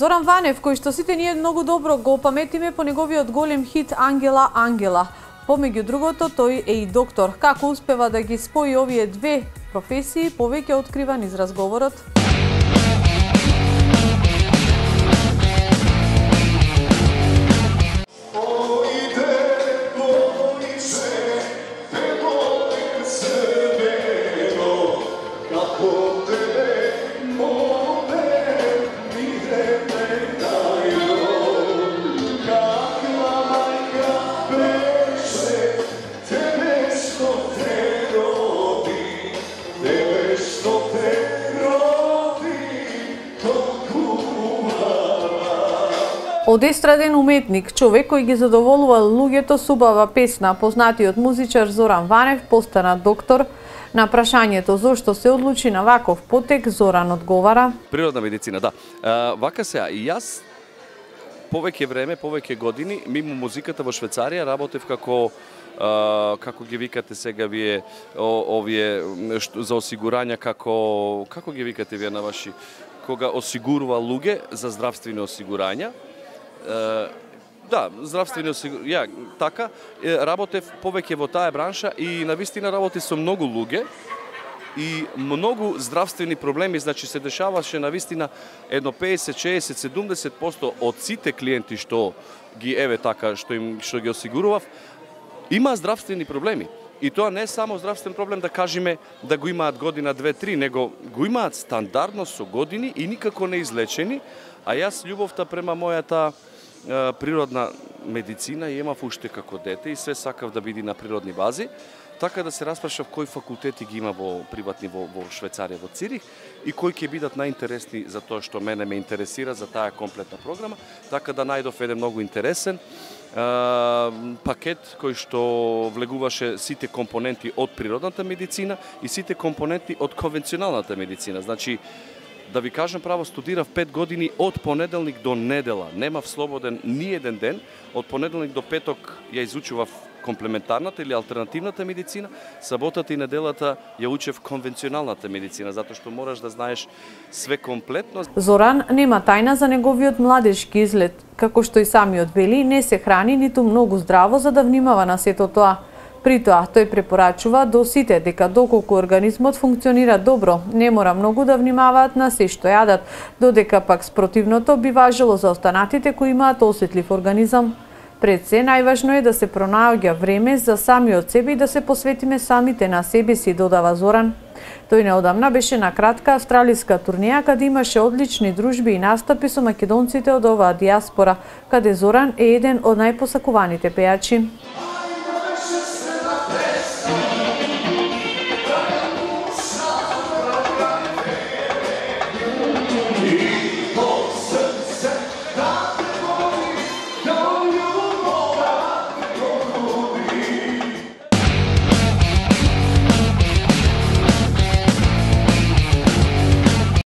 Зоран Ванев, кој што сите ние многу добро го паметиме по неговиот голем хит Ангела, Ангела. Помеѓу другото, тој е и доктор. Како успева да ги спои овие две професии, повеќе открива низ разговорот. Од естраден уметник, човек кој ги задоволува луѓето со убава песна, познатиот музичар Зоран Ванев постана доктор. На прашањето зошто се одлучи на ваков потек, Зоран одговара: Природна медицина, да. Вака сега, и јас повеќе време, повеќе години, мимо музиката во Швајцарија, работев како ги викате сега вие овие за осигурања, како ги викате вие на ваши, кога осигурува луѓе за здравствени осигурања. Да, здравствени осигурања, така, работев повеќе во таа бранша и навистина работи со многу луѓе и многу здравствени проблеми, значи се дешаваше навистина едно 50, 60, 70% од сите клиенти што ги што ги осигурував, има здравствени проблеми. И тоа не е само здравствен проблем, да кажеме да го имаат година, 2-3, него го имаат стандардно со години и никако не излечени, а јас љубовта према мојата природна медицина и имав уште како дете и све сакав да биде на природни бази, така да се распрашав кои факултети ги има во приватни во Швајцарија, во Цирих, и кои ќе бидат најинтересни за тоа што мене ме интересира за таа комплетна програма, така да најдов еден многу интересен пакет кој што влегуваше сите компоненти од природната медицина и сите компоненти од конвенционалната медицина. Значи, да ви кажам право, студирав 5 години од понеделник до недела. Немав слободен ни еден ден. Од понеделник до петок ја изучував комплементарната или алтернативната медицина, саботата и неделата ја учев конвенционалната медицина, затоа што мораш да знаеш све комплетно. Зоран нема тајна за неговиот младежки изглед. Како што и самиот вели, не се храни ниту многу здраво за да внимава на сето тоа. При тоа, тој препорачува до сите дека доколку организмот функционира добро, не мора многу да внимаваат на се што јадат, додека пак спротивното би важело за останатите кои имаат осетлив организам. Пред се, најважно е да се пронаоѓа време за самиот себе и да се посветиме самите на себе си, додава Зоран. Тој неодамна беше на кратка австралиска турнеја, каде имаше одлични дружби и настапи со македонците од оваа дијаспора, каде Зоран е еден од најпосакуваните пејачи.